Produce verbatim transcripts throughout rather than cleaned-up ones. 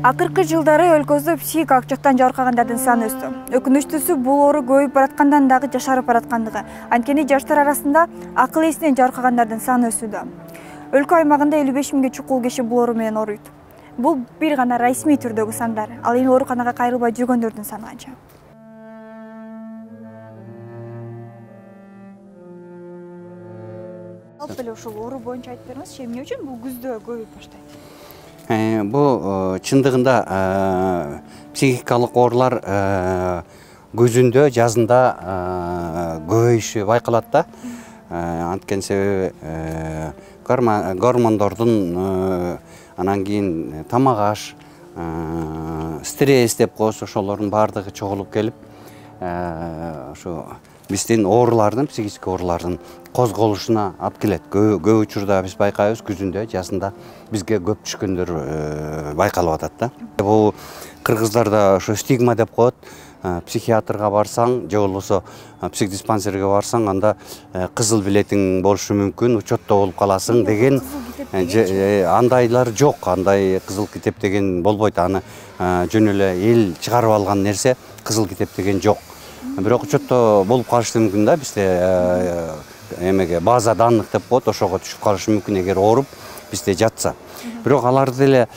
Акыркы жылдары өлкөбүздө психикалык жактан жабыркагандардын саны өстү. Өкүнүчтүүсү бул оору көбөйүп бараткандан дагы жашарып бараткандыгы. Анткени жаштар арасында акыл эсинен жабыркагандардын саны өсүүдө. Өлкө аймагында элүү беш миңге чукул киши бул оору менен ооруйт. Бул бир гана расмий түрдөгү сандар. Ал эми ооруканага кайрылбай жүргөндөрдүн саны канча? Алып эле ушул оору боюнча айтып бериңизчи, эмне үчүн бул күздө көбөйүп баштайт? Бул чындыгында психикалык оорулар күзүндө, жазында көбөйүшү байкалат да. Анткени себеби гормондордун, анан кийин тамак аш, стресс деп коебуз, ошолордун баардыгы чогулуп келип, ошо биздин оорулардын, психический оорулардын козголушуна алып келет. Көп учурда биз байкайбыз, күзүндө, жазында бизге көп түшкөндөр байкалып атат да. Бул кыргыздарда ошо стигма деп коет. Психиатрга барсаң, же болбосо психдиспансерге барсаң, анда кызыл билетиң болушу мүмкүн, учетто болуп каласың деген. Андайлар жок, андай кызыл китеп деген болбойт. Аны жөн эле эл чыгарып алган нерсе, кызыл китеп деген жок. Бирок учетто болуп калышы мүмкүн да, бизде эмеге база данных деп коет, ошого түшүп калышы мүмкүн эгер ооруп бизде жатса. Бирок аларды деле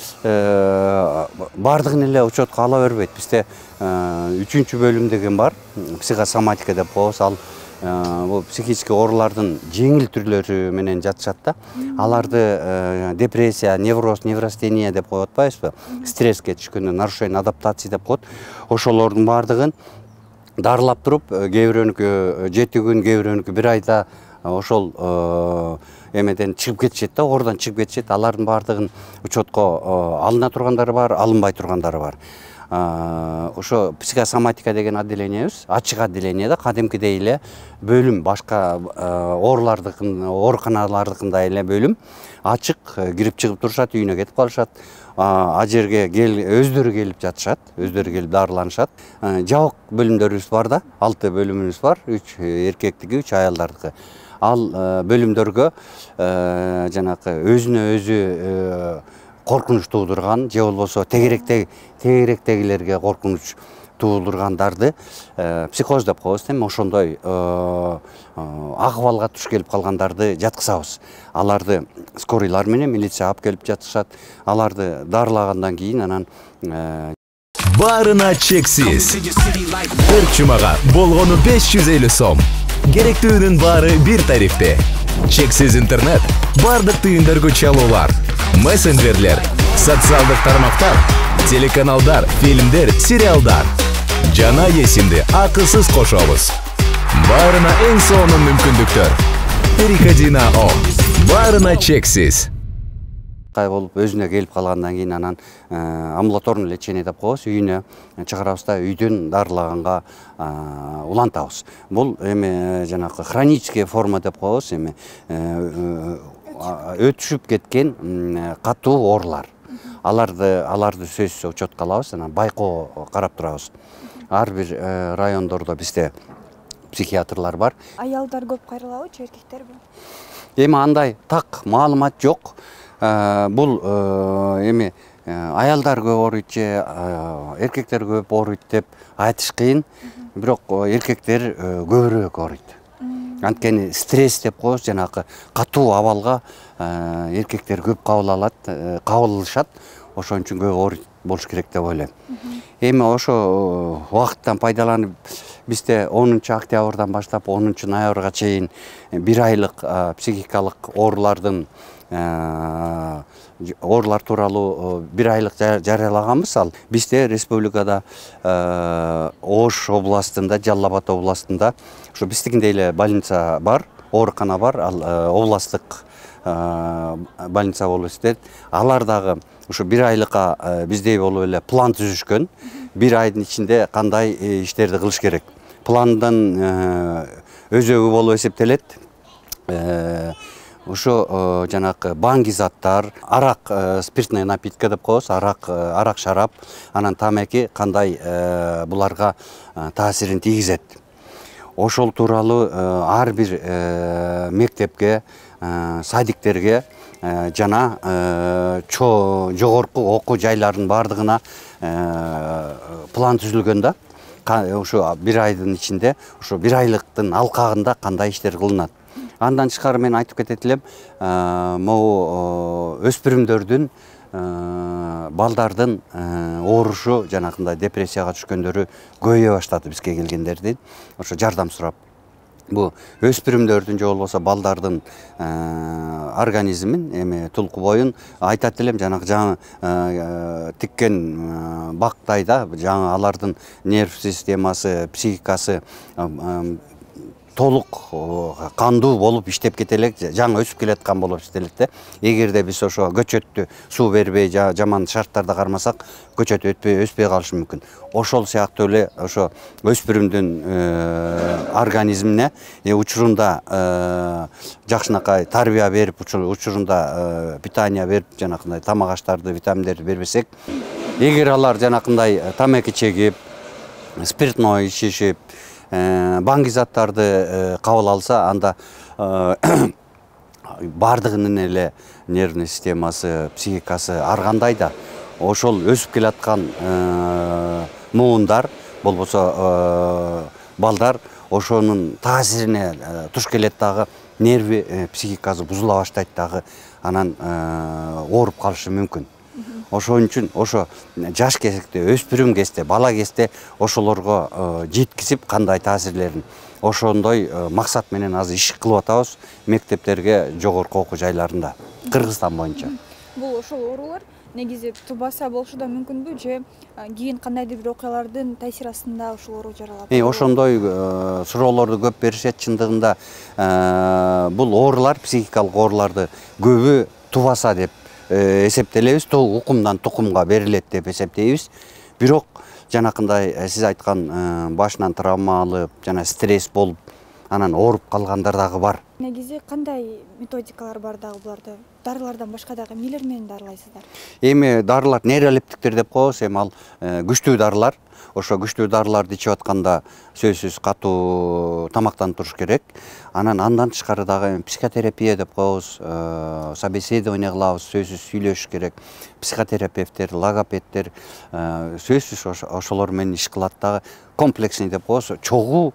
бардыгын эле учетко ала бербейт. Бизде үчүнчү бөлүм деген бар, психосоматика деп коебуз. Ал бул психический оорулардын жеңил түрлөрү менен жатышат да. Аларды депрессия, невроз, неврастения деп коюп атпайбызбы? Стресске түшкөндө нарушение адаптации деп коет. Ошолордун бардыгын дарылап туруп, кээ бирөөнүкү жети күн, кээ бирөөнүкү бир айда ошол эмеден чыгып кетишет да, оордон чыгып кетишет. Алардын баардыгын учетко алына тургандары бар, алынбай тургандары бар. Ошо психосоматика деген отделениябыз, ачык отделение да, кадимкидей эле бөлүм, башка оорулардыкын, ооруканалардыкындай эле бөлүм. Ачык, кирип чыгып турушат, үйүнө кетип калышат. А жерге өздөрү келип жатышат, өздөрү келип дарыланышат. Жабык бөлүмдөрүбүз бар да, алты бөлүмүбүз бар, үч эркектики, үч аялдардыкы. Ал бөлүмдөргө жанакы өзүнө өзү коркунуч туудурган, же болбосо тегеректегилерге коркунуч туудургандарды психоз деп коебуз, эми ошондой акыбалга туш келип калгандарды жаткызабыз. Аларды скорийлар менен милиция алып келип жатышат. Аларды дарылагандан кийин анан баарына чексиз. Төрт жумага болгону беш жүз элүү сом. Керектүүнүн баары бир тарифте. Чексиз интернет, бардык түйүндөргө чалуулар, мессенджерлер, социалдык тармактар, телеканалдар, фильмдер, сериалдар. Жана эсимди акысыз кошобуз. Баарына эң сонун мүмкүндүктөр. Переходи на О. Баарына чексиз. Кай болуп өзүнө келип калгандан кийин анан амбулаторный лечение деп коебуз, үйүнө чыгарабыз да, үйдөн дарылаганга улантабыз. Бул эми жанакы хронический форма деп коебуз, эми өтүшүп кеткен катуу оорулар. Аларды аларды сөзсүз учетко алабыз, анан байкоо карап турабыз. Ар бир райондордо бизде психиатрлар бар. Аялдар көп кайрылабычы, эркектерби? Эми андай так маалымат жок. Бул эми аялдар көп ооруйт же эркектер көп ооруйт деп айтыш кыйын. Бирок эркектер көбүрөөк ооруйт. Анткени стресс деп коебуз, жанакы катуу абалга эркектер көп кабыл алат, кабыл алышат. Ошон үчүн көп ооруйт болуш керек деп ойлойм. Эми ошо убакыттан пайдаланып бизде онунчу октябрдан баштап онунчу ноябрга чейин бир айлык психикалык оорулардын оорулар тууралуу бир айлык жарыялаганбыз. Ал бизде республикада Ош областында, Жалал Абад областында ошо биздикиндей эле больница бар, оорукана бар, ал областтык больница болуп эсептелет. Алар дагы ошо бир айлыкка биздей болуп эле план түзүшкөн. Бир айдын ичинде кандай иштерди кылыш керек. Пландын өзөгү болуп эсептелет. Ошо жанакы баңги заттар, арак, спиртный напитка деп коебуз, арак, арак шарап, анан тамеки кандай буларга таасирин тийгизет. Ошол тууралуу ар бир мектепке, садиктерге жана жогорку окуу жайларынын баардыгына план түзүлгөн да. Ошо бир айдын ичинде, ошо бир айлыктын алкагында кандай иштер кылынат. Андан тышкары мен айтып кетет элем, могу өспүрүмдөрдүн, балдардын оорушу, жанакындай депрессияга түшкөндөрү көбөйө баштады бизге келгендердин. Ошо жардам сурап. Бу өспүрүмдөрдүн же болбосо балдардын организмин, эми тулку боюн айтат элем, жанагы жаңы тиккен бактайда, жаңы алардын нерв системасы, психикасы толук кандуу болуп иштеп кете элек, жаңы өсүп келаткан болуп иштелет да. Эгерде биз ошо көчөттү суу бербей, жаман шарттарда кармасак, көчөт өтпөй өспөй калышы мүмкүн. Ошол сыяктуу эле ошо өспүрүмдүн организмине учурунда жакшынакай тарбия берип, учурунда питание берип, жанакындай тамак аштарды, витаминдерди бербесек, эгер алар жанакындай тамеки чегип, спиртной ичишип, баңги заттарды кабыл алса, анда баардыгынын эле нервный системасы, психикасы ар кандай да ошол өсүп келаткан муундар, болбосо балдар ошонун таасирине туш келет дагы, нерви, психикасы бузула баштайт дагы, анан ооруп калышы мүмкүн. Ошон үчүн ошо жаш кезекте, өспүрүм кезде, бала кезде ошолорго жеткизип, кандай таасирлерин ошондой максат менен азыр иш кылып атабыз мектептерге, жогорку окуу жайларында, Кыргызстан боюнча. Бул ошол оорулар негизи тубаса болушу да мүмкүнбү, же кийин кандайдыр бир окуялардын таасири астында ушул оору жаралат? Ошондой суроолорду көп беришет. Чындыгында бул оорулар, психикалык ооруларды көбү тубаса деп эсептелебиз, укумдан тукумга берилет деп эсептейбиз. Бирок жанакындай сиз айткан башынан травма алып, жана стресс болуп, анан ооруп калгандар дагы бар. Негизи кандай методикалар бар дагы буларды? Дарылардан башка дагы эмнелер менен дарылайсыздар? Эми дарылар нейролептиктер деп коебуз, эми ал күчтүү дарылар. Ошо күчтүү дарыларды ичип атканда сөзсүз катуу тамактанып туруш керек. Анан андан тышкары дагы психотерапия деп коебуз, собеседование кылабыз, сөзсүз сүйлөшүш керек. Психотерапевттер, логопедтер сөзсүз ошолор менен иш кылат дагы. Комплексный деп коебуз, чогуу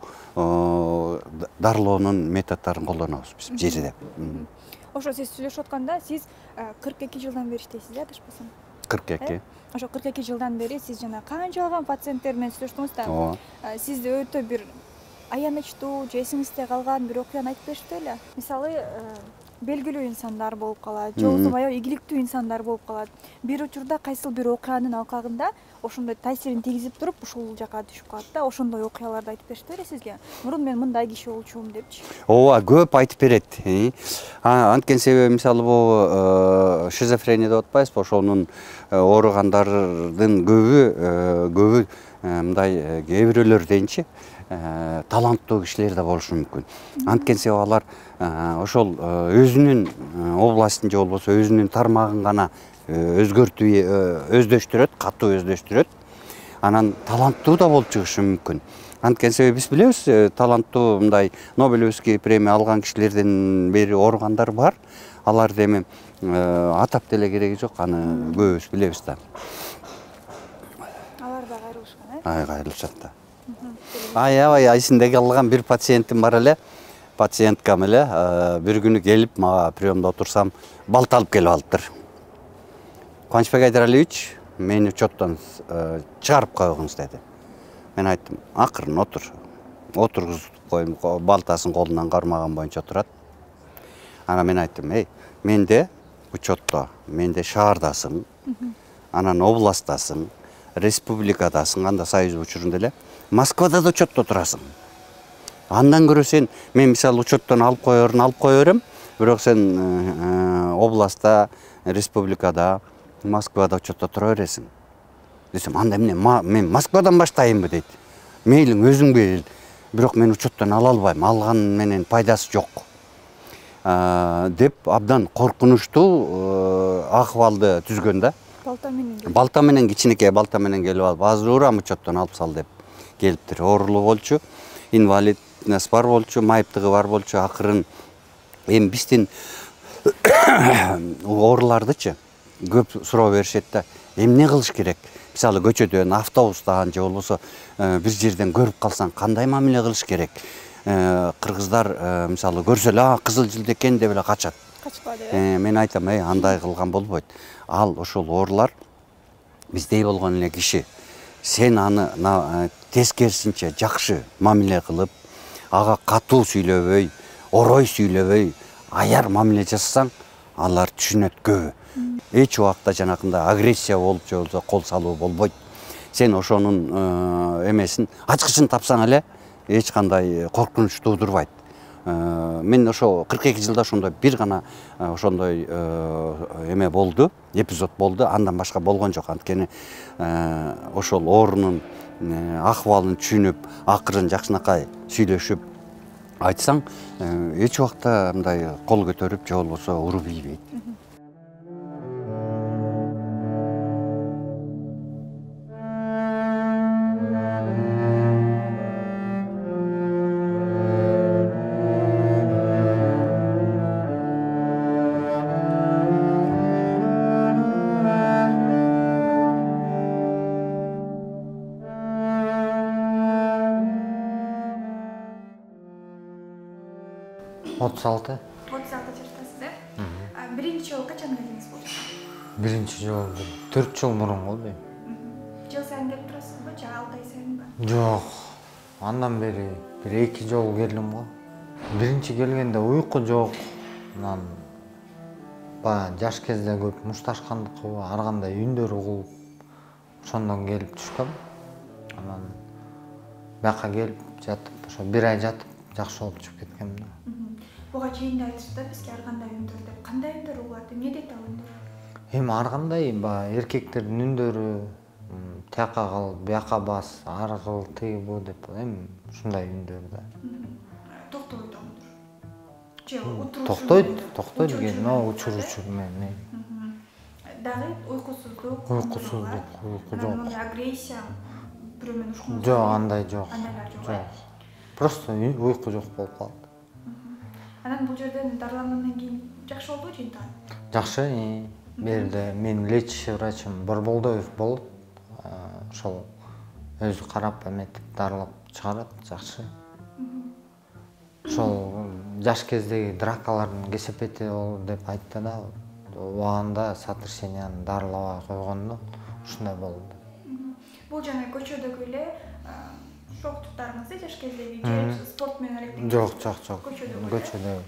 дарылоонун методдорун колдонобуз биз жерде. Ошо сиз сүйлөшүп атканда, сиз кырк эки жылдан бери иштейсиз, э, адашпасам? кырк эки. Ошо кырк эки жылдан бери сиз жана канчалаган пациенттер менен сүйлөштүңүз да. Сизде өтө бир аянычтуу, же эсиңизде калган бир окуяны айтып беришти беле? Мисалы, белгилүү инсандар болуп калат, же болбосо баягы ийгиликтүү инсандар болуп калат. Бир учурда кайсыл бир окуянын алкагында ошондой таасирин тийгизип туруп, ушул жака түшүп калат да. Ошондой окуяларды айтып беришти беле сизге? Мурун мен мындай киши болчумун депчи. Ооба, көп айтып берет. Анткени себеби мисалы бул шизофрения деп атпайбызбы? Ошонун ооругандардын көбү көбү мындай кээ бирөөлөр дейинчи таланттуу кишилер да болушу мүмкүн. Анткени себеби алар ошол өзүнүн областын же болбосо өзүнүн тармагын гана өзгөртүп өздөштүрөт, катуу өздөштүрөт. Анан таланттуу да болуп чыгышы мүмкүн. Анткени себеби биз билебиз, таланттуу мындай Нобелевский премия алган кишилерден бери ооругандар бар. Аларды эми атап деле кереги жок, аны көбүбүз билебиз да. Алар да кайрылышкан, э? Ай, кайрылышат да. Аябай эсимде калган бир пациентим бар эле. Пациенткам эле бир күнү келип, мага приемда отурсам, балта алып келип алыптыр. Кубанычбек Айдаралиевич, мени учеттон чыгарып койгуңуз деди. Мен айттым, акырын отур. Отургузуп коюм, балтасын колунан кармаган боюнча отурат. Анан мен айттым, эй, менде учетто, менде шаардасың, анан областтасың, республикадасың, анда союз учурунда эле, Москвада да учетто турасың. Андан көрө сен, мен мисалы учеттон алып коерун алып кое берем, бирок сен областта, республикада, Москвада учетто тура бересиң. Десем, анда эмне, мен Москвадан баштайынбы дейт. Мейлиң өзүң бел, бирок мен учеттон ала албайм, алган менен пайдасы жок. Деп абдан коркунучтуу акыбалды түзгөн да. Балта менен. Балта менен, кичинекей балта менен келип алып, азыр урам учеттон алып сал деп келиптир. Оорулуу болчу, инвалидность бар болчу, майыптыгы бар болчу, акырын эми биздин оорулардычы көп суроо беришет да, эмне кылыш керек? Мисалы көчөдөн, автобустан же болбосо бир жерден көрүп калсаң кандай мамиле кылыш керек? Кыргыздар мисалы көрсө эле кызыл жилди экен деп эле качат. Качпады. Мен айтам, эй, андай кылган болбойт. Ал ошол оорулар биздей болгон эле киши. Сен аны тескерисинче жакшы мамиле кылып, ага катуу сүйлөбөй, орой сүйлөбөй, аяр мамиле жасасаң, алар түшүнөт көбү. Эч убакта жанакындай агрессия болуп же болбосо кол салуу болбойт. Сен ошонун эмесин, ачкычын тапсаң эле эч кандай коркунуч туудурбайт. Мен ошо кырк эки жылда ошондой бир гана ошондой эме болду, эпизод болду, андан башка болгон жок. Анткени ошол оорунун акыбалын түшүнүп, акырын жакшынакай сүйлөшүп айтсаң, эч убакта мындай кол көтөрүп же болбосо уруп ийбейт. отуз алты. отуз алты жаштасыз, э? Биринчи жолу качан келдиңиз бул жака? Биринчи жолу төрт жыл мурун болду. Жыл сайын келип турасызбы, же алты ай сайынбы? Жок. Андан бери бир эки жолу келдим го. Биринчи келгенде уйку жок. Анан баягы жаш кезде көп мушташкандыкыбы, ар кандай үндөр угулуп, ошондон келип түшкөм. Анан бияка келип жатып, ошо бир ай жатып, жакшы болуп чыгып кеткем да. Буга чейин да айтышты да, бизге ар кандай үндөр деп. Кандай үндөр угулат? Эмне дейт ал үндөр? Эми ар кандай баягы эркектердин үндөрү, тияка кыл, бияка бас, ар кыл, тиги бу деп, эми ушундай үндөр да. Токтойт үндөр. Же утуруу. Токтойт, токтойт экен, но учуручу менен. Дагы уйкусуздук. Уйкусуздук, уйку жок. Агрессия бирөө менен ушкун. Жок, андай жок. Андайлар жок. Жок. Просто уйку жок болуп калды. Анан бул жерден дарылангандан кийин жакшы болду же интеган? Жакшы. Берде менин лечащий врачым Борболдоев болот. Ошол өзү карап эметип дарылап чыгарат, жакшы. Ошол жаш кездеги дракалардын кесепети деп айтты да. Убагында сотрясенияны дарылабай койгондо ушундай болду. Бул жана көчөдөгү эле шоктуктарыңызды жаш кездеги же спорт менен алектенген? Жок, жок, жок. Көчөдө.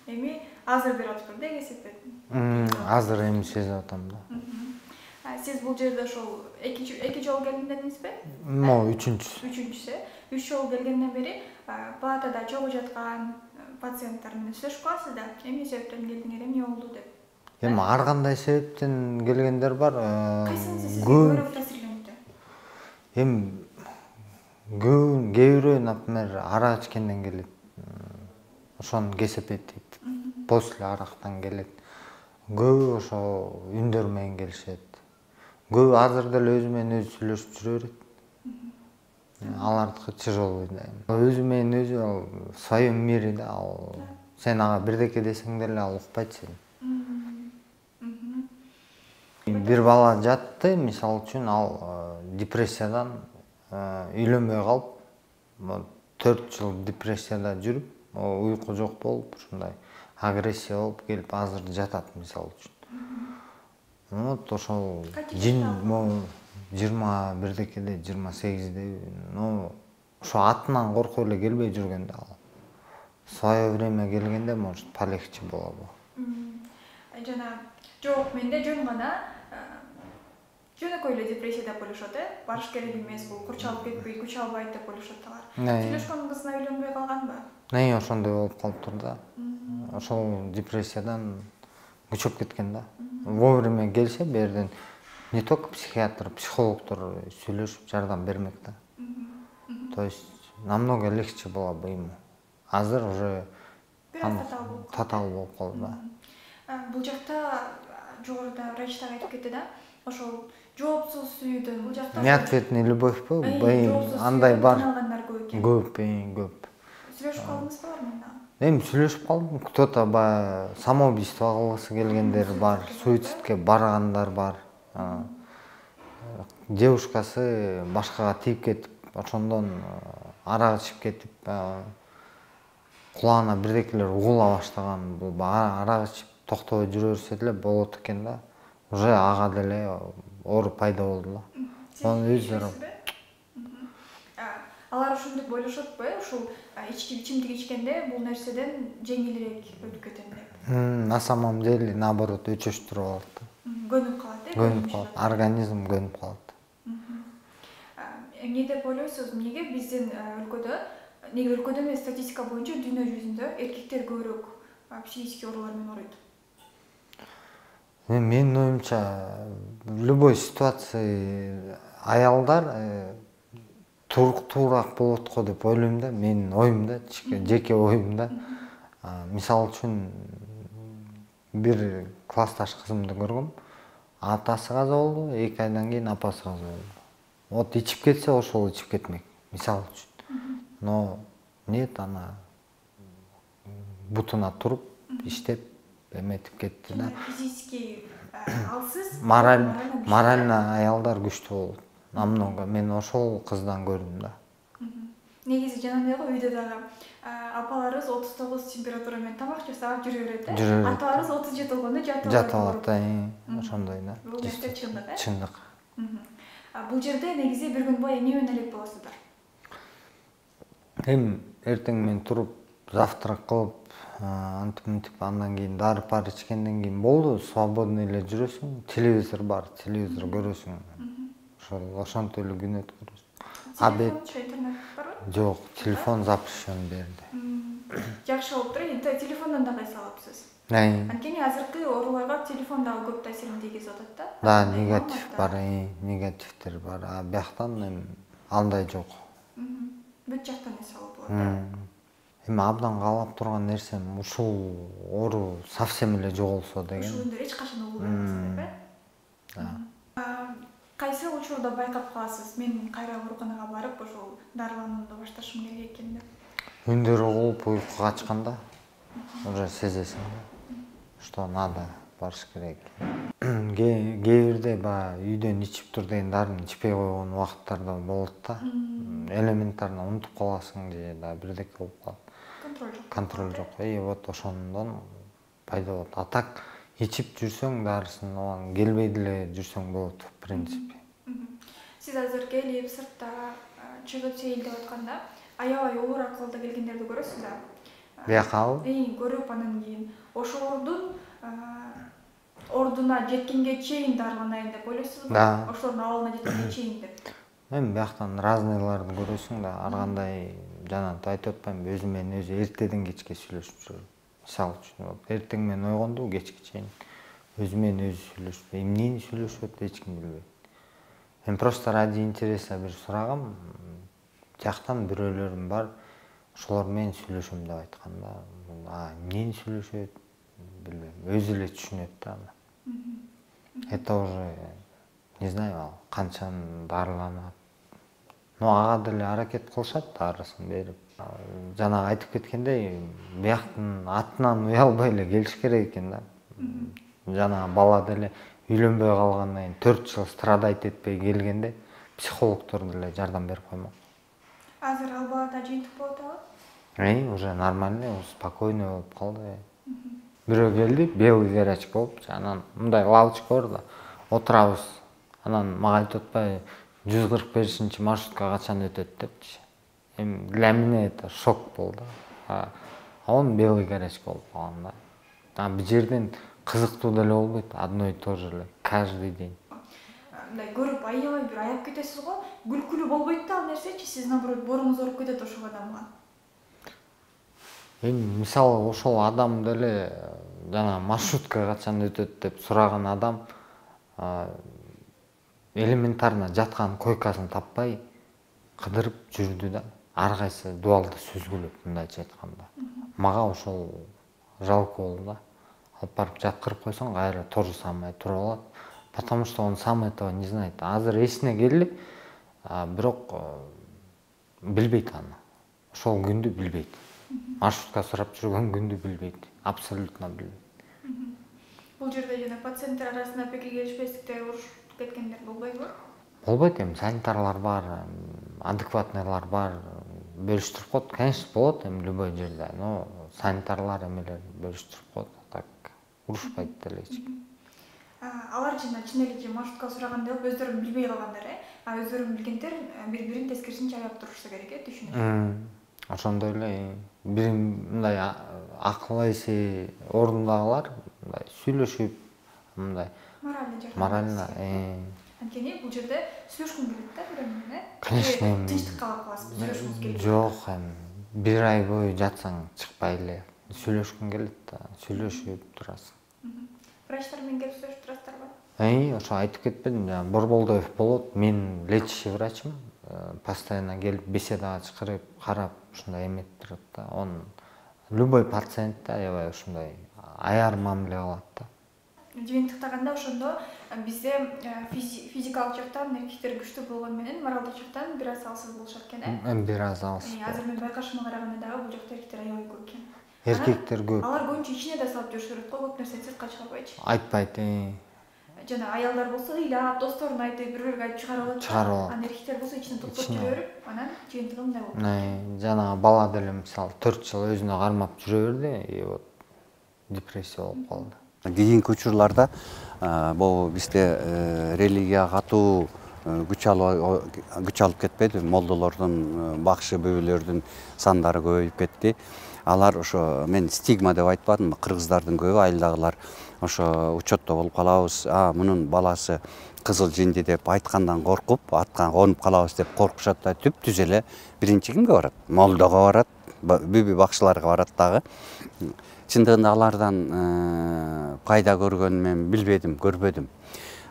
Эми азыр берип атыптыр да кесепет. Азыр эми сезип атам да. Сиз бул жерде ошол эки жолу келдим дедиңизби? Мо үчүнчүсү. Үчүнчүсү. үч жолу келгенден бери палатада чогуу жаткан пациенттер менен сүйлөшүп каласыз да. Эмне себептен келдиңер, эмне болду деп? Эми ар кандай себептен келгендер бар. Кайсынысы сизге көбүрөөк таасирленди? Эми көбүн кээ бирөө, например, арак ичкенден келет. Ошонун кесепети после арактан келет. Көбү ошо үндөр менен келишет. Көбү азыр деле өзү менен өзү сүйлөшүп жүрө берет. Алардыкы тяжелый да. Өзү менен өзү ал в своем мире да. Ал сен ага бирдеке десең деле ал укпайт сени. Бир бала жатты, мисалы үчүн, ал депрессиядан үйлөнбөй калып, төрт жыл депрессияда жүрүп, уйку жок болуп, ушундай агрессия болуп келип азыр жатат, мисалы үчүн. Вот ошол жыйырма бирдекеде, жыйырма сегизде, ну, ошо атынан коркуп эле келбей жүргөндө ал. В свое время келгенде, может, полегче болобу. Жана жок, менде жөн гана жөнөкөй эле депрессия деп ойлошот, э? Барыш керек эмес, бул курчалып кетпей, күч албайт деп ойлошот алар. Сүйлөшкөн кызына үйлөнбөй калганбы? Не, ошондой болуп калыптыр да. Ошол депрессиядан күчөп кеткен да. Вовремя келсе, берден не только психиатр, психологдор сүйлөшүп жардам бермек да. То есть намного легче было бы ему. Азыр уже татаал болуп калды да. Бул жакта жогоруда врачтар айтып кетти да, ошол жоопсуз сүйүүдөн бул жакта неответный любовьпу, андай бар. Алгандар көп экен. Көп, көп. Сүйлөшүп калдыңызбы алар менен? Эми сүйлөшүп калдым. Кто-то баягы самоубийство кылгысы келгендер бар, суицидке баргандар бар. Девушкасы башкага тийип кетип, ошондон арак ичип кетип, кулагына бирдекелер угула баштаган. Бул арак ичип токтобой жүрө берсе деле болот экен да. Уже ага деле оор пайда болду да. Анын өздөрү алар ошондой ойлошот го, ушул ички ичимдик ичкенде бул нерседен жеңилирээк өтүп кетем деп. На самом деле наоборот өчөштүрүп алат да. Көнүп калат, э? Көнүп калат, организм көнүп калат. Эмне деп ойлойсуз? Эмнеге биздин өлкөдө, неге өлкөдө эмес, статистика боюнча дүйнө жүзүндө эркектер көбүрөөк психический оорулар менен ооруйт? Менин оюмча, в любой ситуации аялдар туруктуураак болот го деп ойлойм да, менин оюмда, жеке оюмда. Мисалы үчүн бир классташ кызымды көргөм. Атасы каза болду, эки айдан кийин апасы каза болду. Вот ичип кетсе, ошол ичип кетмек, мисалы үчүн. Но нет, ана бутуна туруп, иштеп, эметип кетти да. Физически алсыз, морально аялдар күчтүү болот. Намного мен ошол кыздан көрдүм да. Негизи жанагы үйдө дагы апаларыбыз отуз тогуз температура менен тамак жасап жүрө берет да. Аталарыбыз отуз жети болгондо жатып алат. Жатып алат да, ошондой да. Бул нерсе чындык, э? Чындык. Бул жерде негизи бир күн бою эмне менен элек болосуздар? Эми эртең мен туруп, завтрак кылып, антип мынтип андан кийин дары-пары ичкенден кийин болду, свободный эле жүрөсүң. Телевизор бар, телевизор көрөсүң. Ошол ошонтип эле күн өткөрөсүң. Абед, интернет барбы? Жок, телефон запрещен берди. Жакшы болуп туруп, телефондон да кайсы алыпсыз? Анткени азыркы ооруларга телефон дагы көп таасирин тийгизип атат да. Да, негатив бар, негативтер бар. А бияктан эми андай жок. Бүт жактан эс алып болот. Эми абдан каалап турган нерсем ушул оору совсем эле жоголсо деген. Ушул эч качан угулбайсыз деп, э? Да. Кайсы учурда байкап каласыз? Мен кайра ооруканага барып, ошол дарыланууну башташым керек экен деп. Күндөр угулуп уйку качканда уже сезесиң да, что надо барыш керек. Кээ бирде баягы үйдөн ичип тур деген дарыны ичпей койгон убакыттарда болот да. Элементарно унутуп каласың же да бирдеке болуп калат. Контроль жок. Контроль жок. И вот ошондон пайда болот. А так ичип жүрсөң дарысын, оған келбей деле жүрсөң болот в принципе. Сиз азыр келип сыртта чыгып сейилдеп атканда аябай оор акыбалда келгендерди көрөсүз да? Биякабы? Эң көрүп анан кийин ошолордун ордуна жеткенге чейин дарыланайын деп ойлойсузбу? Да. Ошолордун абалына жеткенге чейин деп. Эми бияктан разныйларды көрөсүң да, ар кандай жана айтып атпаймынбы, өзү менен өзү эртеден кечке сүйлөшүп жүрөм. Мисалы үчүн, эртең менен ойгондо кечке чейин өзү менен өзү сүйлөшүп, эмнени сүйлөшүп атат эч ким билбейт. Мен просто ради интереса бир сурагам, жактан бирөөлөрүм бар, ошолор менен сүйлөшөм деп айткан да. А эмнени сүйлөшөт билбейм, өзү эле түшүнөт да. Это уже не знаю, канчаны дарыланат. Но ага деле аракет кылышат дарысын берип. Жана айтып кеткендей, бияктын атынан уялбай эле келиш керек экен да. Жана бала деле үйлөнбөй калгандан кийин төрт жыл страдайт этпей келгенде психологдор деле жардам берип коймок. Азыр ал балада жыйынтык болот абы? Эй, уже нормально, спокойно болуп калды. Бирөө келди, белый горячка болуп, анан мындай лавочка бар да, отурабыз. Анан мага айтып атпайбы, жүз кырк бешинчи маршрутка качан өтөт депчи. Эми для меня это шок болду. А он белый горячка болуп калган да. А бул жерден кызыктуу деле болбойт, одно и то же эле каждый день. Мындай көрүп аябай бир аяп кетесиз го, күлкүлүү болбойт да ал нерсечи, сиз наоборот боруңуз ооруп кетет ошол адамга. Эми мисалы ошол адам деле жана маршрутка качан өтөт деп сураган адам элементарно жаткан койкасын таппай кыдырып жүрдү да. Ар кайсы дуалды сүзгүлөп мындайча айтканда. Мага ошол жалко болду да. Алып барып жаткырып койсоң, кайра то же самое туруп алат. Потому что он сам этого не знает. Азыр эсине келди, бирок билбейт аны. Ошол күндү билбейт. маршрутка сурап жүргөн күндү билбейт, абсолютно билбейт. Бул жерде жана пациенттер арасында пикир келишпестиктер, урушуп кеткендер болбойбу? Болбойт, эми санитарлар бар, адекватныйлар бар, бөлүштүрүп коет. Конечно, болот эми любой жерде, но санитарлар эмелер бөлүштүрүп коет, так урушпайт деле эч ким. Алар жана чын эле же маршрутка сураганда өздөрү билбей калгандар, э? А өздөрүн билгендер бири-бирин тескерисинче аяп турушса керек, э, түшүнүш. Ошондой эле бир мындай акыл эси ордундагылар мындай сүйлөшүп, мындай Морально жардам. морально, Анткени бул жерде сүйлөшкүм келет да бир менен, э? конечно, эми тынчтык калып каласыз, сүйлөшкүңүз келет. жок, эми бир ай бою жатсаң чыкпай эле сүйлөшкүң келет да, сүйлөшүп турасың. Врачтар менен келип сүйлөшүп турасыздарбы? Эй, ошо айтып кетпедим, жана Борболдоев болот, мен лечащий врачмын, постоянно келип беседага чакырып, карап, ушундай эметип турат да. Он любой пациентте аябай ушундай аяр мамиле кылат да. Жыйынтыктаганда ошондо бизде физикалык жактан эркектер күчтүү болгону менен моралдык жактан бир аз алсыз болушат экен, э? Эми бир аз алсыз. Азыр мен байкашыма караганда дагы бул жакта эркектер аябай көп экен. Эркектер көп. Алар көбүнчө ичине да салып жүрүшөт го, көп нерсени сыртка чыгарбайчы. Айтпайт, Жана аялдар болсо ыйлап, досторуна айтып, бири-бириге айтып чыгарып алат. Чыгарып алат. Анан эркектер болсо ичине токтоп жүрө берип, анан жыйынтыгы мындай болот. Жана бала деле мисалы төрт жыл өзүнө кармап жүрө берди, и вот депрессия болуп калды. Кийинки учурларда бул бизде религия катуу күч алып күч алып кетпеди, молдолордун, бакшы бөбөлөрдүн сандары көбөйүп кетти. Алар ошо мен стигма деп айтпадымбы, кыргыздардын көбү айылдагылар ошо учетто болуп калабыз, а мунун баласы кызыл жинди деп айткандан коркуп, атка конуп калабыз деп коркушат да, түп-түз эле биринчи кимге барат? Молдого барат, бүбү бакшыларга барат дагы. Чындыгында алардан пайда көргөнүн мен билбедим, көрбөдүм.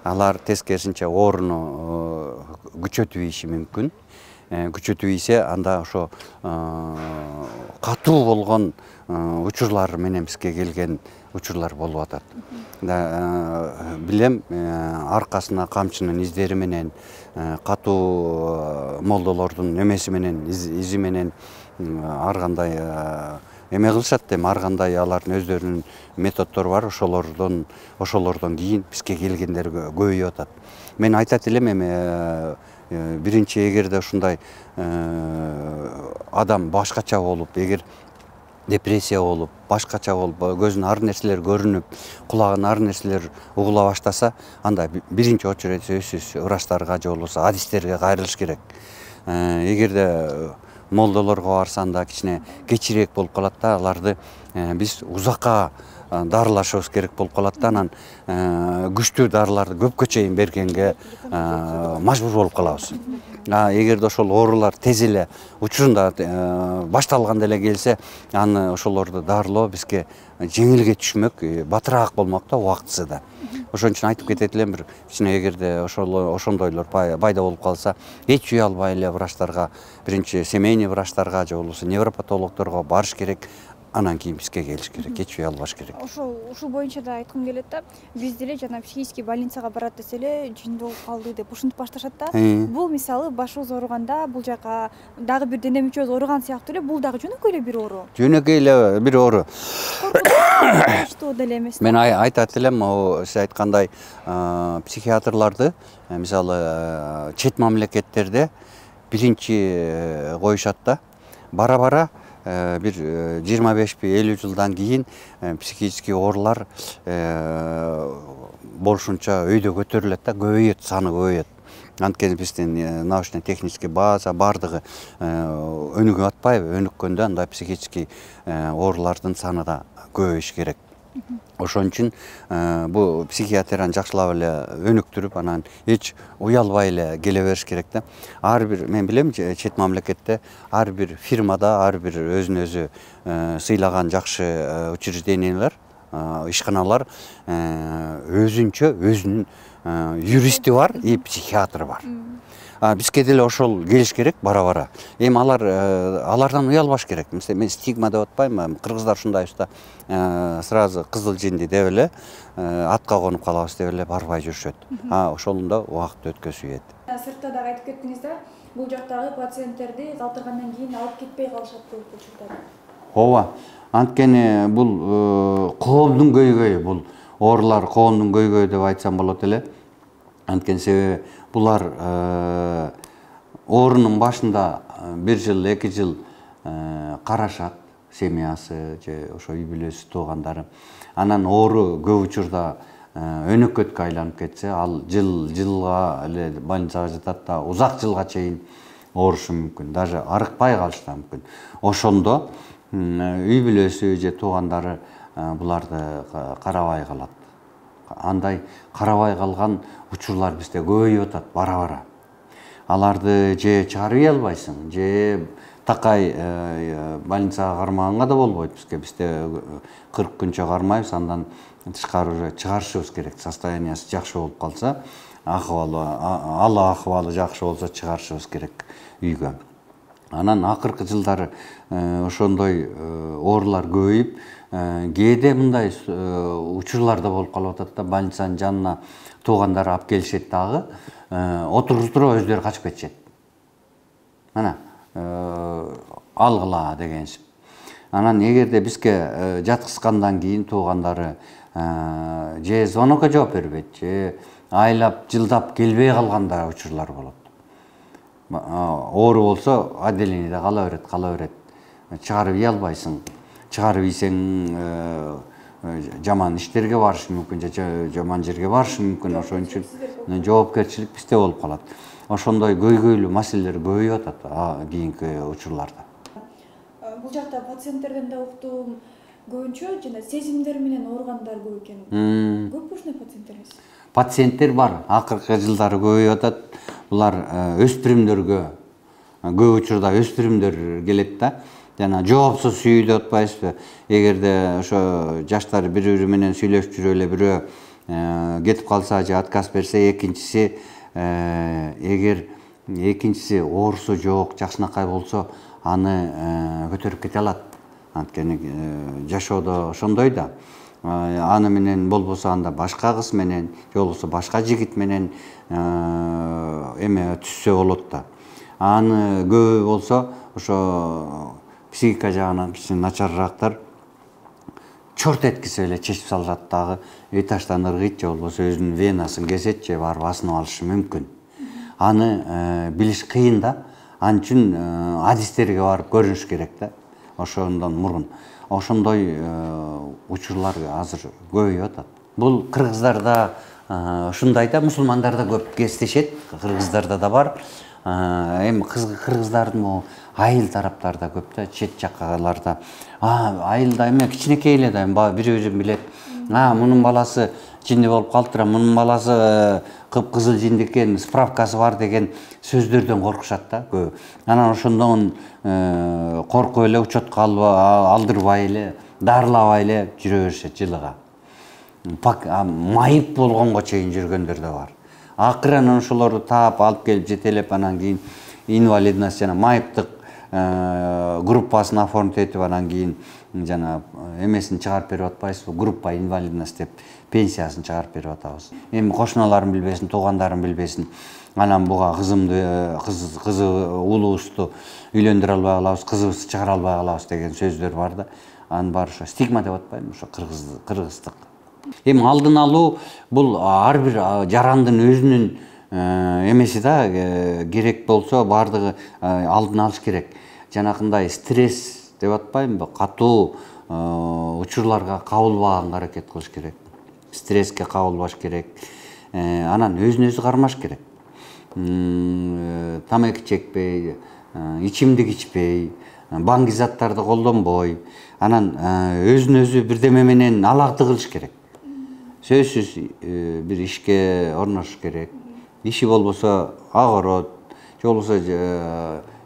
Алар тескерисинче ооруну күчөтүп ийиши мүмкүн. Күчөтүп ийсе, анда ошо катуу болгон учурлар менен бизге келген учурлар болуп атат. Билем, аркасына камчынын издери менен, катуу молдолордун эмеси менен, изи менен ар кандай эме кылышат, эми ар кандай алардын өздөрүнүн методдору бар, ошолордон ошолордон кийин бизге келгендер көбөйүп атат. Мен айтат элем, эми биринчи эгерде ушундай адам башкача болуп, эгер депрессия болуп, башкача болуп, көзүнө ар нерселер көрүнүп, кулагына ар нерселер угула баштаса, анда биринчи очередь сөзсүз врачтарга же болбосо адистерге кайрылыш керек. Эгерде молдолорго барса, анда кичине кечирээк болуп калат да, аларды биз узакка дарылашыбыз керек болуп калат да, анан күчтүү дарыларды көпкө чейин бергенге мажбур болуп калабыз. Эгерде ошол оорулар тез эле учурунда башталганда эле келсе, аны ошолорду дарылоо бизге жеңилге түшмөк, батыраак болмок да, убактысы да. Ошон үчүн айтып кетет элем, бир кичине эгерде ошондойлор пайда болуп калса, эч уялбай эле врачтарга, биринчи семейный врачтарга же болбосо невропатологдорго барыш керек. Анан кийин бизге келиш керек, эч уялбаш керек. Ошол ушул боюнча да айткым келет да, биз деле жана психический больницага барат десе эле жин болуп калды деп ушинтип башташат да. Бул мисалы башыбыз ооруганда, бул жака дагы бир дене мүчөбүз ооруган сыяктуу эле, бул дагы жөнөкөй эле бир оору. Жөнөкөй эле бир оору. Коркунучтуу деле эмес. Мен айтат элем, сиз айткандай психиатрларды, мисалы чет мамлекеттерде биринчи коюшат да, бара-бара бир жыйырма бешпи элүү жылдан кийин психический оорулар болушунча өйдө көтөрүлөт да, көбөйөт, саны көбөйөт. Анткени биздин научно-технический база бардыгы өнүгүп атпайбы, өнүккөндө андай психический оорулардын саны да көбөйүш керек. Ошон үчүн бул психиатрияны жакшылап эле өнүктүрүп, анан эч уялбай эле келе бериш керек да. Ар бир, мен билем, чет мамлекетте ар бир фирмада, ар бир өзүн өзү сыйлаган жакшы учреждениялар, ишканалар өзүнчө өзүнүн юристи бар, и психиатры бар. Бизге деле ошол келиш керек бара-бара. Эми алар алардан уялбаш керек. Мен стигма деп атпайм, кыргыздар ушундай уста сразу кызыл жинди деп эле атка конуп калабыз деп эле барбай жүрүшөт. Ошондо убакыт өткөзүп ийет. Сыртта дагы айтып кеттиңиз да, бул жактагы пациенттерди калтыргандан кийин алып кетпей калышат көп учурда. ооба. Анткени бул коомдун көйгөйү, бул оорулар коомдун көйгөйү деп айтсам болот эле. Анткени себеби булар оорунун башында бир жыл, эки жыл карашат, семьясы же ошо үй бүлөсү, туугандары. Анан оору көп учурда өнөкөткө айланып кетсе, ал жыл жылга эле больницага жатат да, узак жылга чейин оорушу мүмкүн, даже арыкпай калышы да мүмкүн. Ошондо үй бүлөсү же туугандары буларды карабай калат. Андай карабай калган учурлар бизде көбөйүп атат бара-бара. Аларды же чыгарып албайсың, же такай больницага кармаганга да болбойт бизге. Бизде кырк күнчө кармайбыз, андан тышкары чыгарышыбыз керек. Состояниясы жакшы болуп калса, акыбалы, ал акыбалы жакшы болсо чыгарышыбыз керек үйгө. Анан акыркы жылдары ошондой оорулар көбөйүп, кээде мындай учурлар да болуп калып атат да, больницанын жанына туугандары алып келишет дагы, отуруштуруп өздөрү качып кетишет. Мына, алгыла дегенсип. Анан эгерде бизге жаткызгандан кийин туугандары же звонокко жооп бербейт, же айлап, жылдап келбей калганда учурлар болот. Оору болсо отделениеде кала берет, кала берет. Чыгарып ий албайсың. Чыгарып ийсең жаман иштерге барышы мүмкүн, же жаман жерге барышы мүмкүн. Ошон үчүн жоопкерчилик бизде болуп калат. Ошондой көйгөйлүү маселелер көбөйүп атат кийинки учурларда. Бул жакта пациенттерден да уктум, көбүнчө жана сезимдер менен ооругандар көп экен. Көп ушундай пациенттериз? Пациенттер бар, акыркы жылдары көбөйүп атат. Булар өспүрүмдөргө, көп учурда өспүрүмдөр келет да. Жана жоопсуз сүйүү деп атпайбызбы? Эгерде ошо жаштар бири-бири менен сүйлөшүп жүрүп эле бирөө кетип калса же отказ берсе, экинчиси эгер экинчиси оорусу жок, жакшынакай болсо, аны көтөрүп кете алат. Анткени жашоодо ошондой да. Аны менен болбосо анда башка кыз менен, же болбосо башка жигит менен эме түшсө болот да. Аны көбү болсо ошо психика жагынан кичине начарыраактар чорт эткисе эле чечип салышат дагы, этаждан ыргыйт же болбосо өзүнүн венасын кесет же барып асынып алышы мүмкүн. Аны билиш кыйын да. Ал үчүн адистерге барып көрүнүш керек да. Ошондон мурун. Ошондой учурлар азыр көбөйүп атат. Бул кыргыздарда ушундай да, мусулмандарда көп кездешет, кыргыздарда да бар. Эми кыргыздардын айыл тараптарда көп да, чет жаккаларда. Айылда эме кичинекей эле да, бири-бирин билет. Мунун баласы жинди болуп калыптыр, мунун баласы кып-кызыл жинди экен, справкасы бар деген сөздөрдөн коркушат да көп. Анан ошондон коркуп эле, учетко алдырбай эле, дарылабай эле жүрө беришет жылыга. Майып болгонго чейин жүргөндөр да бар. Акыры анан ошолорду таап алып келип жетелеп, анан кийин инвалидность жана майыптык группасын оформить этип, анан кийин жана эмесин чыгарып берип атпайбызбы, группа инвалидность деп пенсиясын чыгарып берип атабыз. Эми кошуналарым билбесин, туугандарым билбесин. Анан буга кызымды, кызы улуубузду үйлөндүрө албай калабыз, кызыбызды чыгара албай калабыз деген сөздөр бар да. Анын баары ошо стигма деп атпаймынбы, ошо кыргыздык. Эми алдын алуу бул ар бир жарандын өзүнүн эмеси да, керек болсо баардыгы алдын алыш керек. Жанакындай стресс деп атпаймынбы, катуу учурларга кабылбаганга аракет кылыш керек. Стресске кабылбаш керек. Анан өзүн өзү кармаш керек. Тамеки чекпей, ичимдик ичпей, баңги заттарды колдонбой, анан өзүн өзү бирдеме менен алакты кылыш керек. Сөзсүз бир ишке орношуш керек. Иши болбосо огород, же болбосо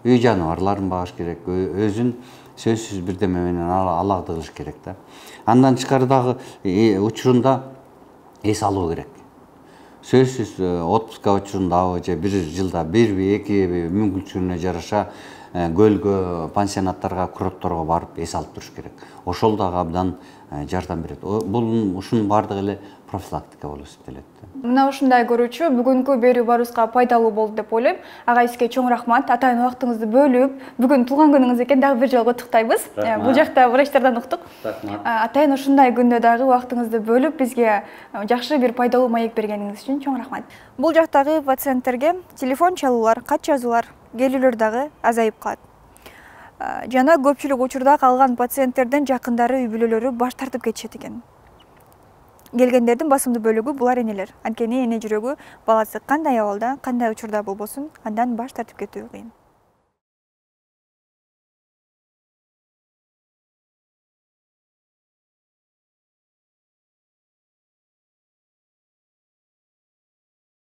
үй жаныбарларын багыш керек. Өзүн сөзсүз бирдеме менен алакты кылыш керек да. Андан тышкары дагы учурунда эс алуу керек. Сөзсүз отпуска учурундабы же бир жылда бирби, экиби мүмкүнчүлүгүнө жараша көлгө, пансионаттарга, курортторго барып эс алып туруш керек. Ошол дагы абдан жардам берет. Бул ушунун баардыгы эле профилактика болуп эсептелет. Мына ушундай көрүүчү бүгүнкү берүү баарыбызга пайдалуу болду деп ойлойм. Ага сизге чоң рахмат. Атайын убактыңызды бөлүп, бүгүн туулган күнүңүз экен, дагы бир жолу куттуктайбыз. Бул жакта врачтардан уктук. Атайын ушундай күндө дагы убактыңызды бөлүп бизге жакшы бир пайдалуу маек бергениңиз үчүн чоң рахмат. Бул жактагы пациенттерге телефон чалуулар, кат жазуулар, келүүлөр дагы азайып калат. Жана көпчүлүк учурда калган пациенттердин жакындары, үй бүлөлөрү баш тартып кетишет экен. Келгендердин басымдуу бөлүгү булар энелер. Анткени эне жүрөгү баласы кандай абалда, кандай учурда болбосун, андан баш тартып кетүү кыйын.